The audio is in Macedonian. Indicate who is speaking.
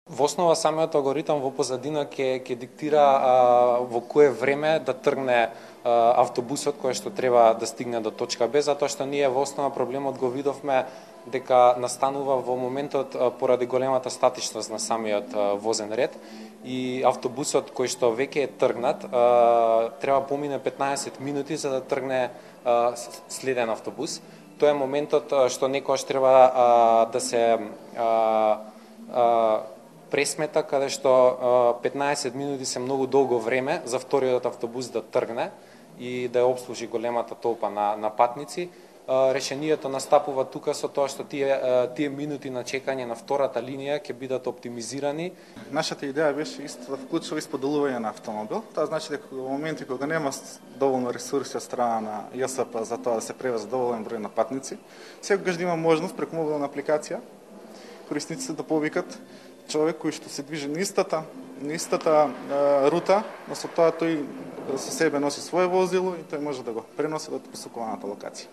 Speaker 1: Во основа самиот алгоритам во позадина ќе диктира во кое време да тргне автобусот кој што треба да стигне до точка Б, затоа што ние во основа проблемот го видовме дека настанува во моментот поради големата статичност на самиот возен ред и автобусот кој што веќе е тргнат треба помине 15 минути за да тргне следен автобус. Тоа е моментот што некогаш треба да се пресмета, каде што 15 минути се многу долго време за вториот автобус да тргне и да ја обслужи големата толпа на патници. Решението настапува тука со тоа што тие минути на чекање на втората линија ќе бидат оптимизирани.
Speaker 2: Нашата идеја беше исто да вклучува исподелување на автомобил. Тоа значи дека во моменти кога нема доволно ресурси од страна на ЈСП за тоа да се превезе доволен број на патници, секогаш да има можност преку мобилна апликација корисниците да повикат човек кој што се движи на истата рута, но со тоа тој со себе носи свое возило и тој може да го преноси до посакуваната локација.